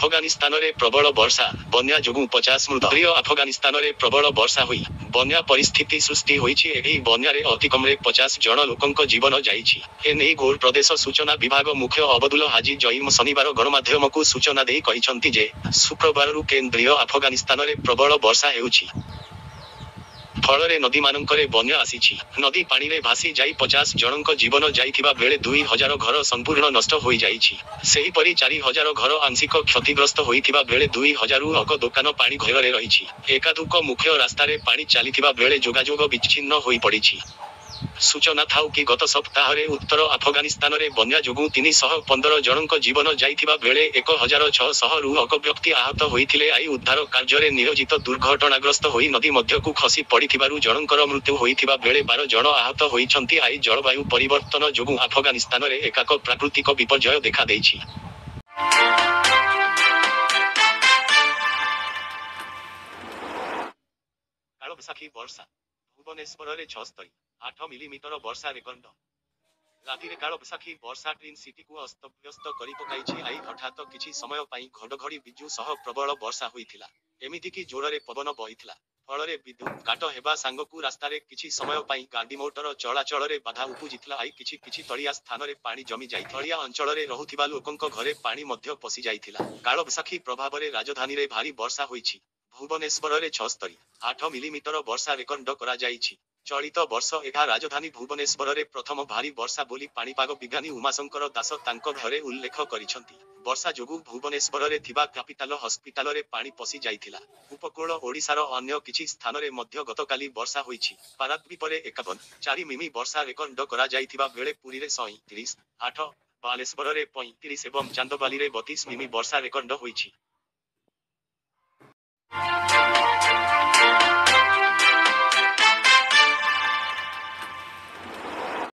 ଆଫଗାନିସ୍ତାନରେ ପ୍ରବଳ ବର୍ଷା, ବନ୍ୟା ଯୋଗୁଁ 50 ମୃତ। କେନ୍ଦ୍ରୀୟ ଆଫଗାନିସ୍ତାନରେ ପ୍ରବଳ ବର୍ଷା ହୋଇ ବନ୍ୟା ପରିସ୍ଥିତି ସୃଷ୍ଟି ହୋଇଛି। ଏହି ବନ୍ୟାରେ ଅତିକମ୍ରେ 50 ଜଣ ଲୋକଙ୍କ ଜୀବନ ଯାଇଛି। ଏନେଇ ଘୋର ପ୍ରଦେଶ ସୂଚନା ବିଭାଗ ମୁଖ୍ୟ ଅବଦୁଲ ହାଜି ଜଇମ ଶନିବାର ଗଣମାଧ୍ୟମକୁ ସୂଚନା ଦେଇ କହିଛନ୍ତି ଯେ, ଶୁକ୍ରବାରରୁ କେନ୍ଦ୍ରୀୟ ଆଫଗାନିସ୍ତାନରେ ପ୍ରବଳ ବର୍ଷା ହେଉଛି। ଫଳରେ ନଦୀମାନଙ୍କରେ ବନ୍ୟା ଆସିଛି। ନଦୀ ପାଣିରେ ଭାସି ଯାଇ 50 ଜଣଙ୍କ ଜୀବନ ଯାଇଥିବା ବେଳେ 2000 ଘର ସମ୍ପୂର୍ଣ୍ଣ ନଷ୍ଟ ହୋଇଯାଇଛି। ସେହିପରି 4000 ଘର ଆଂଶିକ କ୍ଷତିଗ୍ରସ୍ତ ହୋଇଥିବା ବେଳେ 2000ରୁ ଅକ ଦୋକାନ ପାଣି ଘେରରେ ରହିଛି। ଏକାଧୂକ ମୁଖ୍ୟ ରାସ୍ତାରେ ପାଣି ଚାଲିଥିବା ବେଳେ ଯୋଗାଯୋଗ ବିଚ୍ଛିନ୍ନ ହୋଇପଡ଼ିଛି। ସୂଚନାଥାଉ କି ଗତ ସପ୍ତାହରେ ଉତ୍ତର ଆଫଗାନିସ୍ତାନରେ ବନ୍ୟା ଯୋଗୁଁ 315 ଜଣଙ୍କ ଜୀବନ ଯାଇଥିବା ବେଳେ 1600ରୁ ଅକ ବ୍ୟକ୍ତି ଆହତ ହୋଇଥିଲେ। I ଉଦ୍ଧାର କାର୍ଯ୍ୟରେ ନିୟୋଜିତ ଦୁର୍ଘଟଣାଗ୍ରସ୍ତ ହୋଇ ନଦୀ ମଧ୍ୟକୁ ଖସି ପଡ଼ିଥିବାରୁ ଜଣଙ୍କର ମୃତ୍ୟୁ ହୋଇଥିବା ବେଳେ 12 ଜଣ ଆହତ ହୋଇଛନ୍ତି। I ଜଳବାୟୁ ପରିବର୍ତ୍ତନ ଯୋଗୁଁ ଆଫଗାନିସ୍ତାନରେ ଏକାକ ପ୍ରାକୃତିକ ବିପର୍ଯ୍ୟୟ ଦେଖାଦେଇଛି। କାଳବୈଶାଖୀ ବର୍ଷା, ଭୁବନେଶ୍ୱରରେ 76.8 ମିଲିମିଟର ବର୍ଷା ରେକର୍ଡ। ରାତିରେ କାଳବୈଶାଖୀ ବର୍ଷା ଟ୍ୱିନ୍ ସିଟିକୁ ଅସ୍ତବ୍ୟସ୍ତ କରିପକାଇଛି। I ହଠାତ କିଛି ସମୟ ପାଇଁ ଘଡ଼ଘଡ଼ି ବିଜୁ ସହ ପ୍ରବଳ ବର୍ଷା ହୋଇଥିଲା। ଏମିତିକି ଜୋରରେ ପବନ ବହିଥିଲା। ଫଳରେ ବିଦ୍ୟୁତ କାଟ ହେବା ସାଙ୍ଗକୁ ରାସ୍ତାରେ କିଛି ସମୟ ପାଇଁ ଗାଡ଼ିମୋଟର ଚଳାଚଳରେ ବାଧା ଉପୁଜିଥିଲା। I କିଛି କିଛି ତଳିଆ ସ୍ଥାନରେ ପାଣି ଜମି ଯାଇଥିଲା। ତଳିଆ ଅଞ୍ଚଳରେ ରହୁଥିବା ଲୋକଙ୍କ ଘରେ ପାଣି ମଧ୍ୟ ପଶିଯାଇଥିଲା। କାଳବୈଶାଖୀ ପ୍ରଭାବରେ ରାଜଧାନୀରେ ଭାରୀ ବର୍ଷା ହୋଇଛି। ଭୁବନେଶ୍ୱରରେ 76.8 ମିଲିମିଟର ବର୍ଷା ରେକର୍ଡ କରାଯାଇଛି। ଚଳିତ ବର୍ଷ ଏହା ରାଜଧାନୀ ଭୁବନେଶ୍ୱରରେ ପ୍ରଥମ ଭାରୀ ବର୍ଷା ବୋଲି ପାଣିପାଗ ବିଜ୍ଞାନୀ ଉମାଶଙ୍କର ଦାସ ତାଙ୍କ ଘରେ ଉଲ୍ଲେଖ କରିଛନ୍ତି। ବର୍ଷା ଯୋଗୁଁ ଭୁବନେଶ୍ୱରରେ ଥିବା କ୍ୟାପିଟାଲ ହସ୍ପିଟାଲରେ ପାଣି ପଶି ଯାଇଥିଲା। ଉପକୂଳ ଓଡ଼ିଶାର ଅନ୍ୟ କିଛି ସ୍ଥାନରେ ମଧ୍ୟ ଗତକାଲି ବର୍ଷା ହୋଇଛି। ପାରାଦ୍ୱୀପରେ 51.4 ମିମି ବର୍ଷା ରେକର୍ଡ କରାଯାଇଥିବା ବେଳେ ପୁରୀରେ 37.8, ବାଲେଶ୍ୱରରେ 35 ଏବଂ ଚାନ୍ଦବାଲିରେ 32 ମିମି ବର୍ଷା ରେକର୍ଡ ହୋଇଛି।